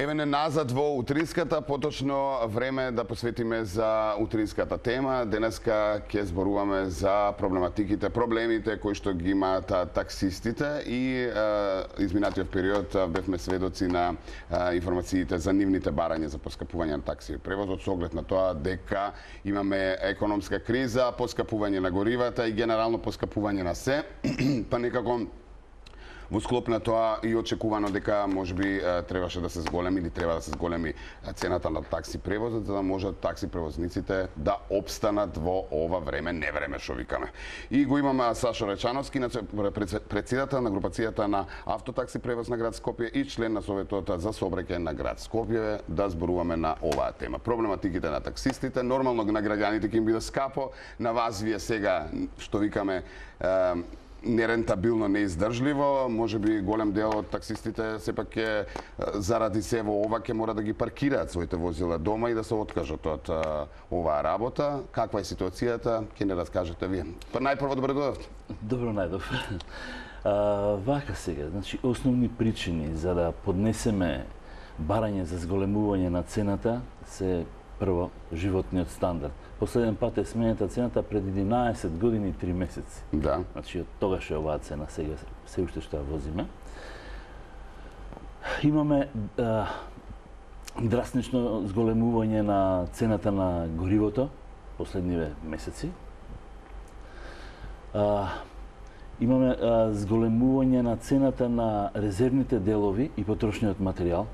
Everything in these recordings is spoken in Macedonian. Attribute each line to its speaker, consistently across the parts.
Speaker 1: Еве не назад во утринската, поточно време да посветиме за утринската тема. Денеска ќе зборуваме за проблемите кои што ги имаат таксистите и изминатиот период бевме сведоци на информациите за нивните барања за поскапување на такси превозот со оглед на тоа дека имаме економска криза, поскапување на горивата и генерално поскапување на се, па некако во склоп на тоа и очекувано дека можеби требаше да се зголеми или треба да се зголеми цената на такси превозот за да можат такси превозниците да опстанат во ова време, невреме што викаме. И го имаме Сашо Речановски, председател на групацијата на Автотакси превоз на град Скопје и член на Советот за сообраќај на град Скопје, да зборуваме на оваа тема. Проблематиките на таксистите, нормално на граѓаните ќе им биде скапо, на вас вие сега што викаме нерентабилно, неиздржливо, можеби голем дел од таксистите сепак ќе заради се во ова ќе мора да ги паркираат своите возила дома и да се откажат од оваа работа. Каква е ситуацијата? Ќе не раскажете вие. Па најпрво добре дојдовте.
Speaker 2: Добро најдов. Вака сега, значи основни причини за да поднесеме барање за зголемување на цената се прво животниот стандард. Последен пат е сменета цената пред 11 години и 3 месеци.
Speaker 1: Да.
Speaker 2: Значи од тогаш е оваа цена, сега се уште што ја возиме. Имаме драстично зголемување на цената на горивото последниве месеци. Имаме зголемување на цената на резервните делови и потрошниот материјал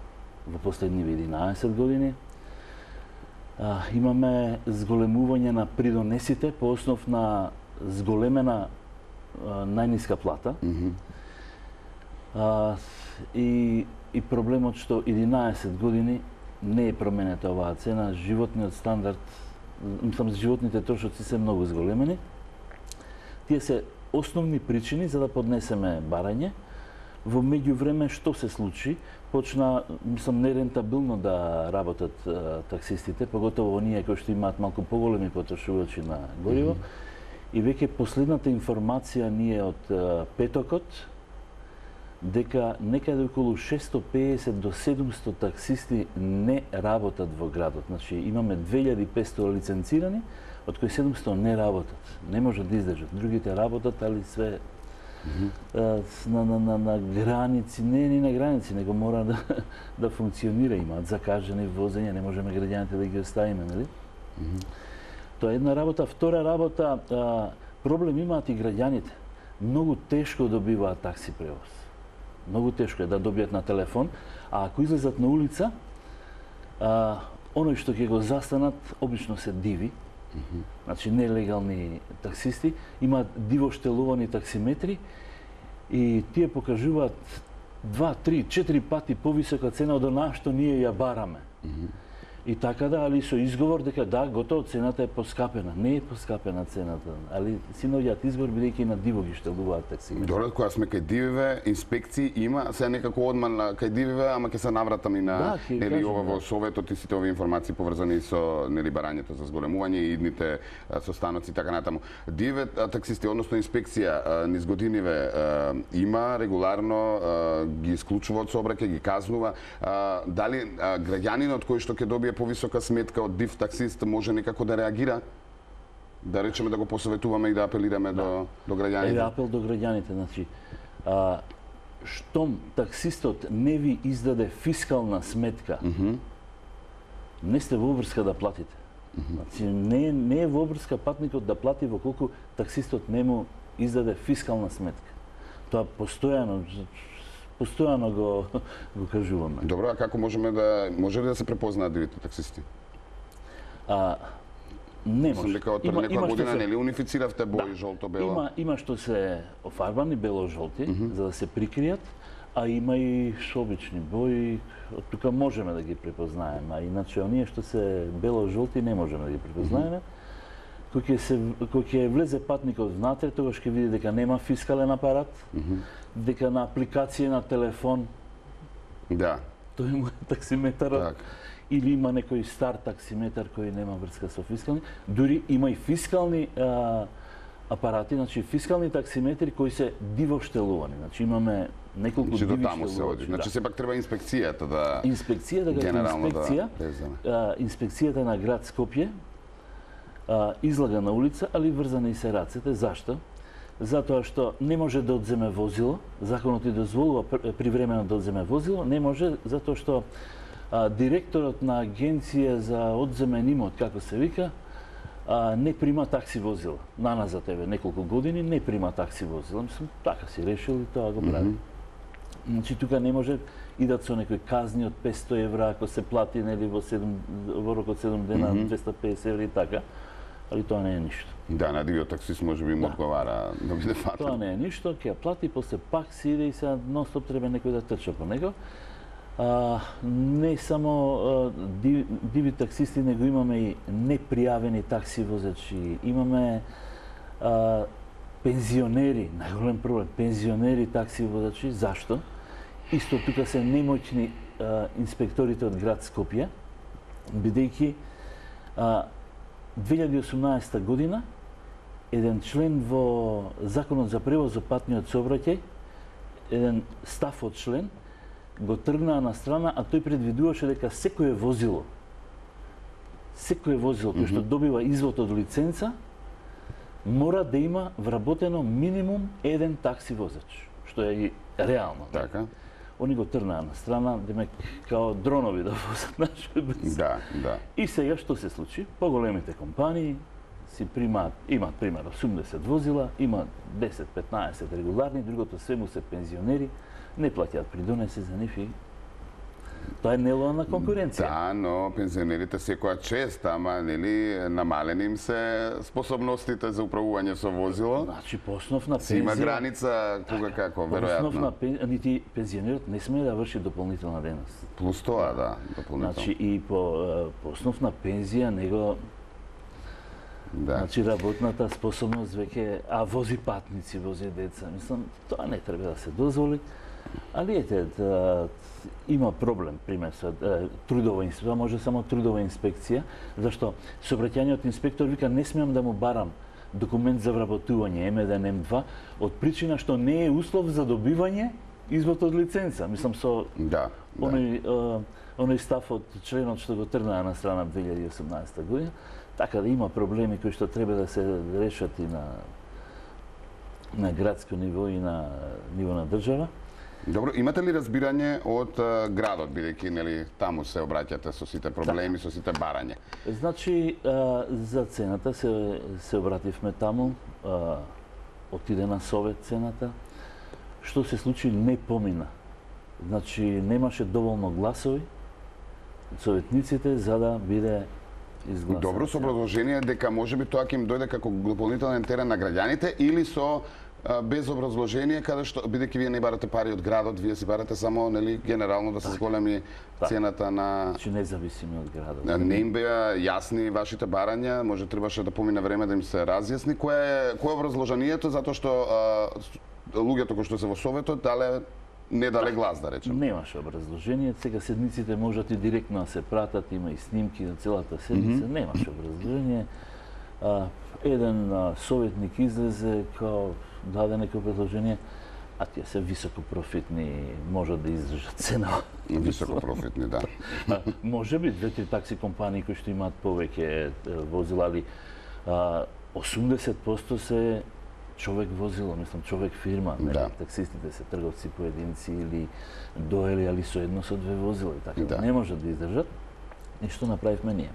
Speaker 2: во последниве 11 години. Имаме зголемување на придонесите по основ на зголемена најниска плата. И проблемот што 11 години не е променета оваа цена, животниот стандард, животните трошоци се многу зголемени. Тие се основни причини за да поднесеме барање. Во меѓувреме што се случи? Почна, нерентабилно да работат таксистите, поготово оние кои што имаат малку поголеми потрошувачи на гориво. И веќе последната информација ни е од петокот дека некаде околу 650 до 700 таксисти не работат во градот. Значи имаме 2500 лиценцирани, од кои 700 не работат. Не можат да издржат. Другите работат, али све на граници, не на граници, него мора да функционира, имаат закажани возења, не можеме граѓаните да ги оставиме, нели? Тоа е една работа. Втора работа, проблем имаат и граѓаните. Многу тешко добиваат такси превоз. Многу тешко е да добијат на телефон, а ако излезат на улица, оној што ќе го застанат, обично се диви. Значи нелегални таксисти имаат диво штелувани таксиметри и тие покажуваат 2, 3, 4 пати повисока цена од онаа што ние ја бараме. И така да, али со изговор дека да, готово цената е поскапена. Не е поскапена цената, али си наоѓаат изговор бидејќи на диво ги штелуваат таксиметри.
Speaker 1: Добре, кога сме кај дививе, инспекции има, се некако одман кај дививе, ама ќе се навратам и на нели ова во советот и сите овие информации поврзани со нели барањето за зголемување и идните состаноци така натаму. Дививе таксисти, односно инспекција низ годиниве има регуларно ги исклучува од сообраќај, ги казнува. Дали граѓанинот кој што ќе добие повисока сметка од див таксист може некако да реагира? Да речеме да го посоветуваме и да апелираме до граѓаните?
Speaker 2: Еве апел до граѓаните, значи штом таксистот не ви издаде фискална сметка, не сте во обврска да платите. Значи не е во обврска патникот да плати во колку таксистот не му издаде фискална сметка. Тоа постојано го кажуваме.
Speaker 1: Добро, а како може ли да се препознаат дивите таксисти?
Speaker 2: Не може.
Speaker 1: Дека од пред некоја година нели унифициравте бои жолто-бело?
Speaker 2: Има што се офарбани бело-жолти за да се прикријат, а има и обични бои, од тука можеме да ги препознаеме, а иначе оние што се бело-жолти не можеме да ги препознаеме. Кој ќе влезе патникот внатре, тогаш ќе види дека нема фискален апарат, дека на апликација на телефон тој му е таксиметарот, или има некој стар таксиметар кој нема врска со фискални, дури има и фискални апарати, значи фискални таксиметри кои се диво штелувани. Значи имаме неколку
Speaker 1: Значи до
Speaker 2: диви
Speaker 1: таму се оди.
Speaker 2: штелувачи.
Speaker 1: Значи сепак треба инспекцијата да
Speaker 2: Инспекцијата
Speaker 1: генерално
Speaker 2: како инспекција,
Speaker 1: да преземе.
Speaker 2: инспекцијата на град Скопје излага на улица, али врзани се рацете. Зашто? Затоа што не може да одземе возило, законот и дозволува привремено да одземе возило, не може затоа што директорот на агенција за одземен имот, како се вика, не прима такси возила. Наназад еве неколку години не прима такси возила. Мислам, така си решил и тоа го прави. Значи тука не може идат со некои казни од 500 евра ако се плати нели во рок од 7 дена 250 евра и така. Али тоа не е ништо.
Speaker 1: Да, на дивиот таксист може би му одговара да биде фатен.
Speaker 2: Тоа не е ништо, ќе ја плати, после пак си иде и сега нон-стоп треба некој да трча по него. Не само диви таксисти, него имаме и непријавени такси возачи, имаме пензионери, најголем проблем, пензионери такси возачи. Зашто? Исто тука се немоćни инспекторите од град Скопје, бидејќи 2018 година еден член во Законот за превоз во патниот сообраќај, еден став од член, го тргнаа на страна, а тој предвидуваше дека секое возило кој што добива извод од лиценца, мора да има вработено минимум еден такси возач, што е и реално.
Speaker 1: Така.
Speaker 2: Они го тргнаа на страна, демек као дронови да возат нашој без.
Speaker 1: Да, да.
Speaker 2: И сега што се случи? Поголемите компании имаат пример 80 возила, имаат 10-15 регуларни, другото све му се пензионери, не плаќаат придонеси за нив и тоа е нелојална конкуренција.
Speaker 1: Да, но пензионерите секоја чест, ама нели намалени им се способностите за управување со возило.
Speaker 2: Значи по основ на
Speaker 1: Си има
Speaker 2: пензија,
Speaker 1: граница кога како,
Speaker 2: по основ на
Speaker 1: веројатно.
Speaker 2: нити пензионерот не смее да врши дополнителна дејност.
Speaker 1: Плюс тоа, да, дополнително.
Speaker 2: Значи и по основ на пензија него
Speaker 1: Да.
Speaker 2: значи работната способност веќе, а вози патници, вози деца. Мислам, тоа не треба да се дозволи. Али ете, има проблем, пример со трудова инспекција, може само трудова инспекција, зашто сообраќајниот инспектор вика не смеам да му барам документ за вработување М1, М2, од причина што не е услов за добивање извод од лиценца. Мислам со
Speaker 1: Да.
Speaker 2: оној став од членот што го тргнаа на страна 2018 година, така да има проблеми кои што треба да се решат и на градско ниво и на ниво на држава.
Speaker 1: Добро, имате ли разбирање од градот, бидејќи нели таму се обраќате со сите проблеми, со сите барања?
Speaker 2: Значи, за цената се обративме таму, отиде на совет цената. Што се случи, не помина. Значи, немаше доволно гласови од советниците за да биде изгласена.
Speaker 1: Добро, со образложение дека можеби тоа ќе им дојде како дополнителен терен на граѓаните или со без образложение, каде што бидејќи вие не барате пари од градот, вие си барате само нели генерално да се зголеми цената на.
Speaker 2: Значи независими од градот.
Speaker 1: Не им беа јасни вашите барања, може требаше да помине време да им се разјасни. Кое е образложението затоа што луѓето кои што се во советот не дале глас, да речем.
Speaker 2: Немаше образложение, сега седниците можат и директно да се пратат, има и снимки на целата седница, немаше образложение. Еден советник излезе као даде некој предложение, а тие се високопрофитни, можат да издржат цена.
Speaker 1: Високопрофитни, да.
Speaker 2: Може би 2-3 такси компании кои што имаат повеќе возила, али 80% се човек возило, мислам човек фирма,
Speaker 1: Да.
Speaker 2: Таксистите се трговци поединци или доели, али со едно со две возила и така.
Speaker 1: Да.
Speaker 2: Не можат да издржат. И што направивме ние?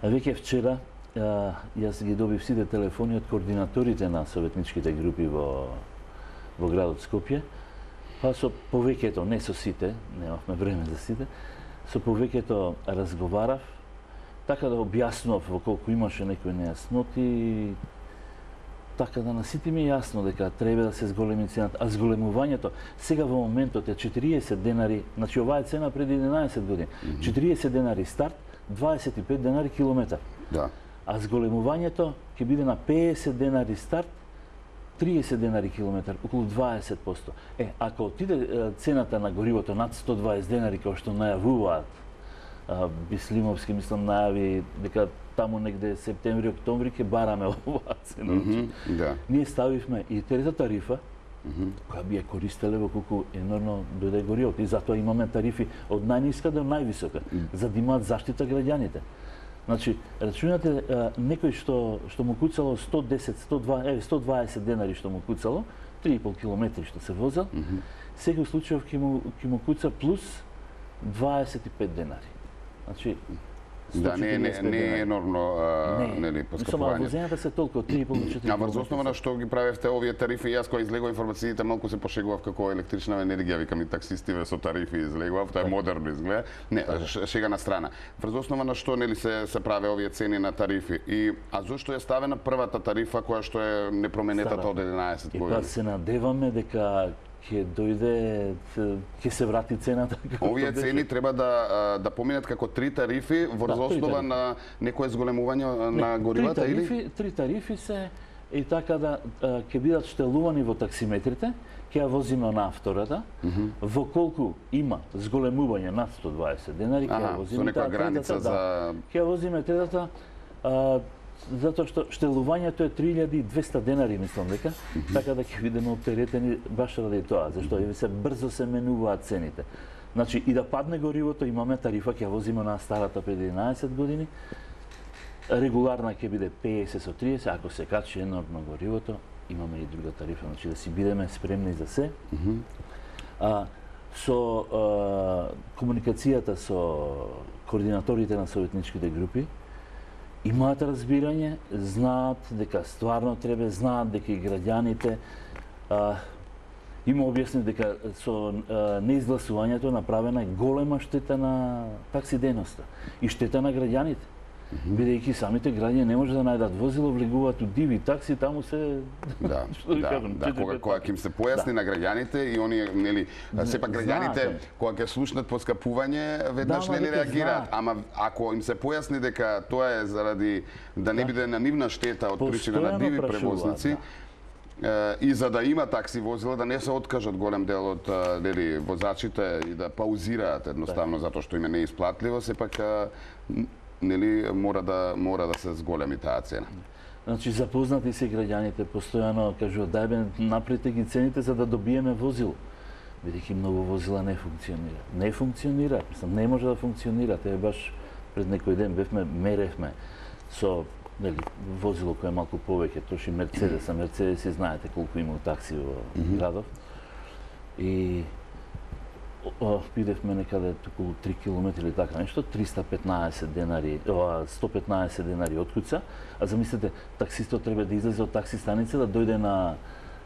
Speaker 2: Веќе вчера јас ги добив сите телефони од координаторите на советничките групи во градот Скопје, па со повеќето, не со сите, немавме време за сите, со повеќето разговарав, така да објаснував во колку имаше некои нејасноти, така да на сите ми е јасно дека треба да се зголеми цената, а зголемувањето сега во моментот е 40 денари, значи оваа е цена преди 11 години, 40 денари старт, 25 денари километар.
Speaker 1: Да.
Speaker 2: А зголемувањето ќе биде на 50 денари старт, 30 денари километар, околу 20%. Ако отиде цената на горивото над 120 денари, како што најавуваат Бислимовски, мислам, најави дека таму негде септември, октомври ќе бараме оваа цена.
Speaker 1: Да.
Speaker 2: Ние ставивме и третата тарифа, која би ја користеле во колку енорно дојде горивото. И затоа имаме тарифи од најниска до највисока, за да имаат заштита граѓаните. Значи, рачунате некој што му куцало 110, 120 денари што му куцало, 3,5 километри што се возел, секој случај ќе му куца плюс 25 денари. Значи,
Speaker 1: да, не е енормно, нели, поскапување.
Speaker 2: Возењата се толку 3,5 до 4.
Speaker 1: А врз основа на што ги правевте овие тарифи, јас кога излегува информациите малку се пошегував како електрична енергија, викам и таксистиве со тарифи излегував, тоа е модерно изгледа. Не, шега на страна. Врз основа на што нели се праве овие цени на тарифи а зошто е ставена првата тарифа која што е непроменетата од 11 години?
Speaker 2: И па се надеваме дека ќе дојде, ќе се врати цената.
Speaker 1: Овие цени треба да поминат како 3 тарифи врз основа на некое зголемување на горивата или?
Speaker 2: 3 тарифи се и така да ќе бидат штелувани во таксиметрите, ќе ја возиме на втората, во колку има зголемување над 120 денари, ќе ја возиме
Speaker 1: со некоја граница за...
Speaker 2: Ќе ја возиме третата, затоа што штелувањето е 3200 денари, мислам дека, така да ќе бидеме оптеретени баш ради тоа, зашто се брзо се менуваат цените. Значи и да падне горивото, имаме тарифа, ќе ја возиме на старата пред 11 години. Регуларна ќе биде 50 со 30, ако се качи енормно горивото, имаме и друга тарифа, значи да си бидеме спремни за се. Со комуникацијата со координаторите на советничките групи, имаат разбирање, знаат дека стварно треба, знаат дека и граѓаните има објаснет дека со неизгласувањето направена голема штета на такси дејноста и штета на граѓаните. Бидејќи самите граѓани не може да најдат возило, влегуваат у диви такси, таму се
Speaker 1: кога ќе им се појасни на граѓаните и они нели сепак граѓаните кога ќе слушнат поскапување веднаш нели реагираат, ама ако им се појасни дека тоа е заради да не биде на нивна штета од причина на диви превозници, и за да има такси возила да не се откажат голем дел од нели возачите и да паузираат едноставно затоа што им е неисплатливо, сепак нели мора да се зголеми таа цена.
Speaker 2: Значи запознати се граѓаните, постојано кажуваат дај напрете ги цените за да добиеме возило. Бидејќи многу возила не функционира. Не функционира, мислам не може да функционира. Тоа баш пред некој ден меревме со нели возило кое е малку повеќе, троши Мерцедес, а Мерцедеси знаете колку има такси во градов. И бидевме некаде околу 3 километри или така нешто, 315 денари, 115 денари од куца, а замислете, таксистот треба да излезе од такси станица, да дојде на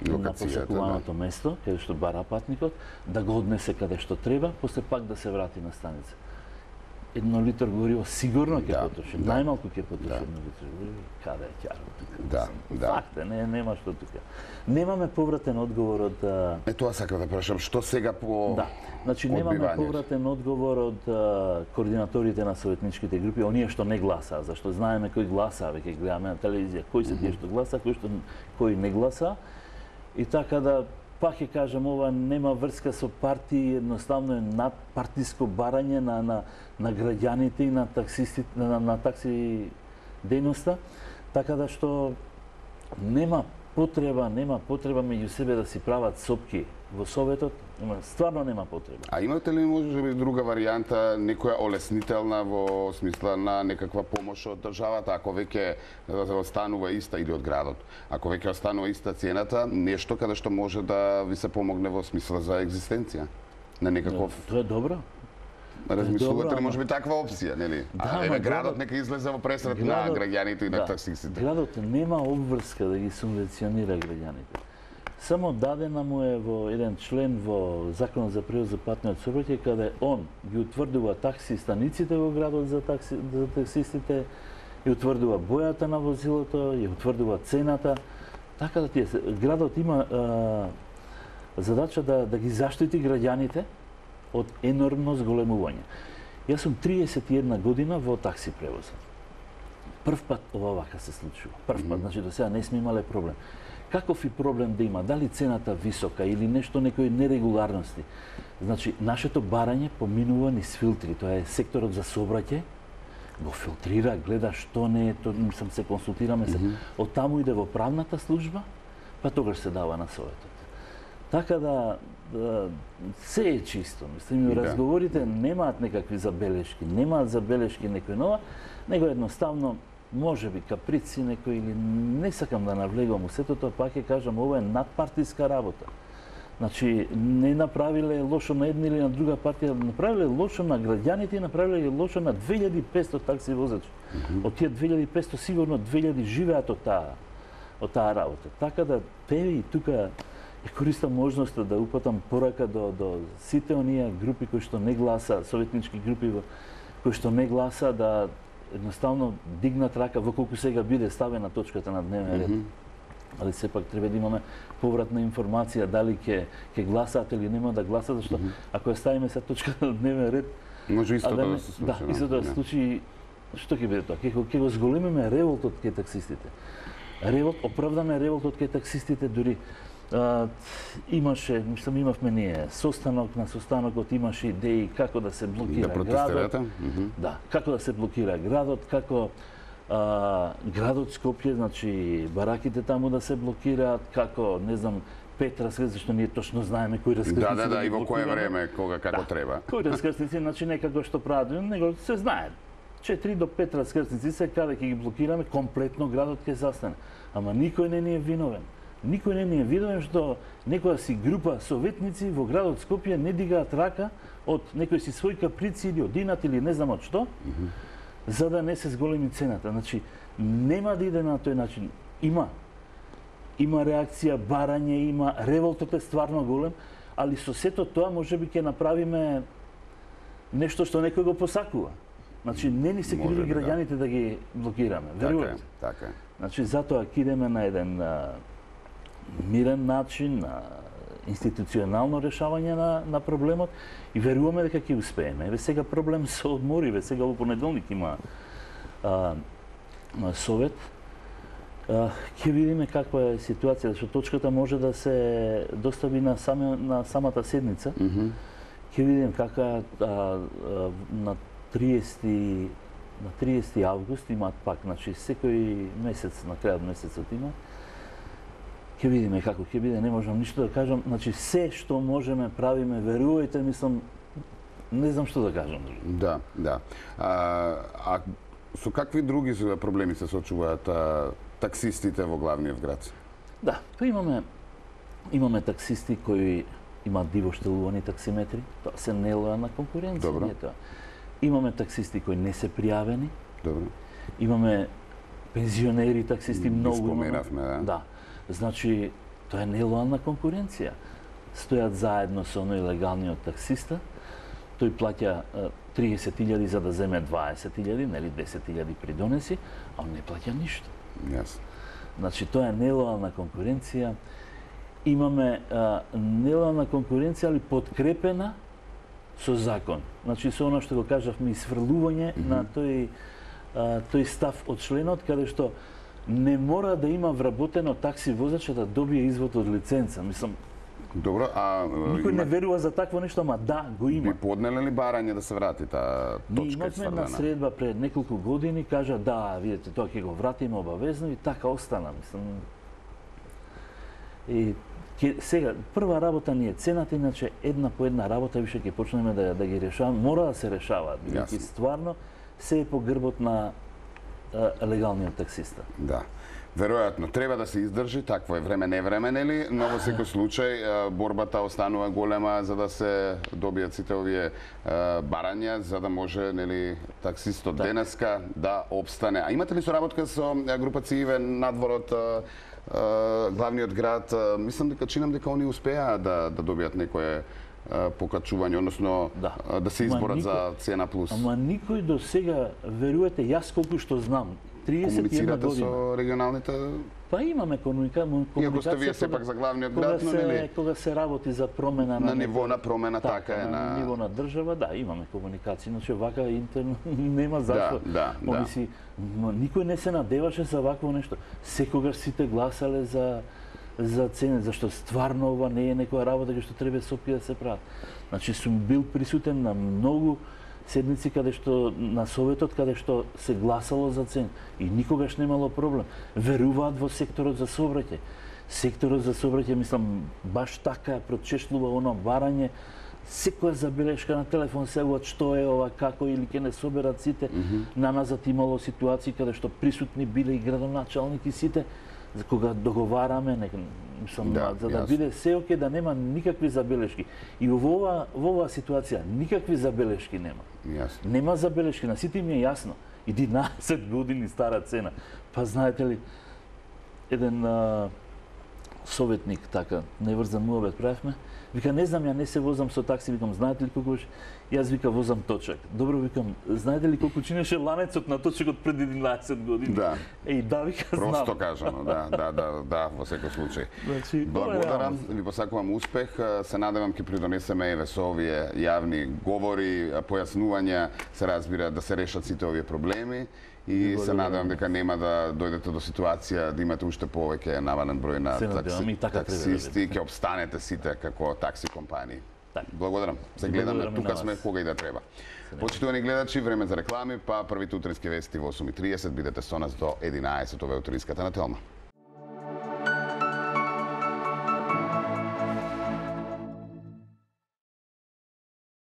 Speaker 2: посакуваното место, каде што бара патникот, да го однесе каде што треба, после пак да се врати на станица. 1 литар гориво сигурно ќе потроши, најмалку ќе потроши 1 литар гориво, каде е ќарот. Факт е, нема што тука. Немаме повратен одговор од...
Speaker 1: Тоа сакам да прашам, што сега по...
Speaker 2: Да, значи немаме повратен одговор од координаторите на советничките групи, оние што не гласаа, зашто знаеме кој гласаа, веќе гледаме на телевизија, кој се тие што гласа, кој не гласа. И така да пак ќе кажам, ова нема врска со партии, едноставно е надпартиско барање на граѓаните и на таксистите, на такси дејноста, така да што нема потреба меѓу себе да си прават сопки во Советот, стварно нема потреба.
Speaker 1: А имате ли може би друга варијанта, некоја олеснителна во смисла на некаква помош од државата, ако веќе останува иста или од градот, ако веќе останува иста цената, нешто каде што може да ви се помогне во смисла за екзистенција на некаков...
Speaker 2: Тоа е добро.
Speaker 1: Размислувате ли може би таква опција, нели? Еве градот нека излезе во пресрет на граѓаните и на таксистите.
Speaker 2: Градот нема обврска да ги субвенционира граѓаните. Само дадена му е во еден член во Законот за превоз за патниот сообраќај, каде он ги утврдува такси станиците во градот за таксистите, и утврдува бојата на возилото, и утврдува цената. Така да градот има задача да ги заштити граѓаните од енормно зголемување. Јас сум 31 година во такси превозот. Прв пат ова вака се случува. Прв пат, значи до сега не сме имале проблем. каков и проблем да има, дали цената висока или нешто, некои нерегуларности. Значи, нашето барање поминува низ филтри, тоа е секторот за сообраќај, го филтрира, гледа што не е, мислам се консултираме се. Од таму иде во правната служба, па тогаш се дава на советот. Така да се е чисто. Мислам, разговорите немаат некакви забелешки, немаат забелешки некој нова, него едноставно може би каприци некој или не сакам да навлегувам у сето тоа, пак ќе кажам, ова е надпартиска работа. Значи, не направиле лошо на една или на друга партија, направиле лошо на граѓаните и направиле лошо на 2500 такси возачи. Од тие 2500 сигурно 2000 живеат од таа работа. Така да и тука ја користам можноста да упатам порака до сите оние групи кои што не гласа, советнички групи кои што не гласа, да едноставно дигнат рака во колку сега биде ставена точката на дневен ред. Али сепак треба да имаме повратна информација дали ќе гласаат или нема да гласаат, зашто ако ја ставиме се точката на дневен ред,
Speaker 1: може истото да се случи.
Speaker 2: Да, истото да се случи, што ќе биде тоа? Ќе го зголемиме револтот кај таксистите. Оправдан е револтот кај таксистите, дури имаше, мислам, имавме ние состанок, на состанокот имаше идеи како да се блокира градот. Да, како да се блокира градот, како градот Скопје, значи бараките таму да се блокираат, како, не знам, 5 раскрстници, зашто ние точно знаеме кои раскрстници
Speaker 1: Да, и во кое време, кога, како треба.
Speaker 2: Кои раскрстници, значи некако што прават, него се знае. 4 до 5 раскрстници се каде ќе ги блокираме, комплетно градот ќе застане. Ама никој не ни е виновен. Никој не ни е виновен што некоја си група советници во градот Скопје не дигаат рака од некој си свој каприци или од инат или не знам од што, за да не се зголеми цената. Значи, нема да иде на тој начин. Има реакција, барање, има, револтот е стварно голем, али со сето тоа можеби ќе направиме нешто што некој го посакува. Значи, не ни се криви граѓаните да ги блокираме. Верувате?
Speaker 1: Така е.
Speaker 2: Значи, затоа ќе идеме на еден мирен начин, на институционално решавање на проблемот и веруваме дека ќе успееме. Еве сега проблем со одмори, еве сега во понеделник има совет. Ќе видиме каква е ситуација, зашто точката може да се достави на самата седница. Ќе видиме каква на 30 август имаат пак, значи секој месец, на крајот месецот има. Ќе видиме како ќе биде, не можам ништо да кажам. Значи се што можеме правиме, верувајте, мислам, не знам што да кажам.
Speaker 1: Да. А со какви други проблеми се соочуваат таксистите во главниот град?
Speaker 2: Да, па имаме таксисти кои имаат дивоштелувани таксиметри, тоа се нелојална конкуренција.
Speaker 1: Добро.
Speaker 2: Имаме таксисти кои не се пријавени.
Speaker 1: Добро.
Speaker 2: Имаме пензионери таксисти, многу.
Speaker 1: Споменавме,
Speaker 2: да. Значи, тоа е нелојална конкуренција. Стојат заедно со оној легалниот таксиста, тој плаќа 30.000 за да земе 20.000, нели 10.000 придонеси, а он не плаќа ништо.
Speaker 1: Јас.
Speaker 2: Значи, тоа е нелојална конкуренција. Имаме нелојална конкуренција, али подкрепена со закон. Значи, со оно што го кажавме, исфрлување на тој став од членот, каде што не мора да има вработено такси возача да добие извод од лиценца. Мислам,
Speaker 1: добро,
Speaker 2: никој не верува за такво нешто, ама да, го има.
Speaker 1: Би поднеле ли барање да се врати таа точка?
Speaker 2: Ние имавме една средба пред неколку години, кажа да, видите, тоа ќе го вратиме обавезно и така остана, мислам. И сега прва работа ни е цената, иначе една по една работа више ќе почнеме да ги решаваме, мора да се решаваат, бидејќи стварно се е по грбот на легалниот таксиста.
Speaker 1: Да. Веројатно треба да се издржи, такво е време не време, нели, но во секој случај борбата останува голема за да се добијат сите овие барања, за да може, нели, таксистот денеска да обстане. А имате ли соработка со група Циве надвор од главниот град? Мислам дека чинам дека они успеа да добијат некое покачување, односно да се изборат за цена плюс.
Speaker 2: Ама никој до сега, верувате, јас колку што знам, 31
Speaker 1: комуницирате
Speaker 2: година.
Speaker 1: со регионалните?
Speaker 2: Па имаме комуникација.
Speaker 1: Иако сте вие сепак за главниот град, но нели?
Speaker 2: Кога се работи за промена
Speaker 1: на ниво на промена, така е.
Speaker 2: На ниво на држава, да, имаме комуникација, но че вака интерно нема зашто.
Speaker 1: Да.
Speaker 2: Никој не се надеваше за вакво нешто. Секогаш сите гласале за за цене, зашто стварно ова не е некоја работа која што треба Сопија да се прават. Значи сум бил присутен на многу седници каде што на советот каде што се гласало за цени и никогаш немало проблем. Веруваат во секторот за сообраќај. Секторот за сообраќај, мислам, баш така прочешлува оно барање, секоја забелешка на телефон се што е ова, како или ќе не соберат сите. Наназад имало ситуации каде што присутни биле и градоначалник и сите, за кога договараме, мислам, за да биде се оке, да нема никакви забелешки. И во оваа ситуација никакви забелешки нема.
Speaker 1: Јасно.
Speaker 2: Нема забелешки, на сите им е јасно. 11 години стара цена. Па знаете ли, еден советник така неврзан муабет правевме, вика, не знам, ја не се возам со такси, викам, знаете ли колку јас вика возам точак. Добро, викам, знаете ли колку чинеше ланецот на точакот пред 11 години?
Speaker 1: Да.
Speaker 2: Да, вика, знам.
Speaker 1: Просто кажано, да, во секој случај.
Speaker 2: Значи,
Speaker 1: благодарам, ви посакувам успех, се надевам ќе придонесеме еве со овие јавни говори, појаснувања, се разбира да се решат сите овие проблеми. И се надевам дека нема да дојдете до ситуација да имате уште повеќе навален број на таксисти, ќе обстанете сите како такси компании. Благодарам. Се гледаме тука сме кога и да треба. Почитувани гледачи, време за реклами, па првите утрински вести во 8:30, бидете со нас до 11 ове утринската на Телма.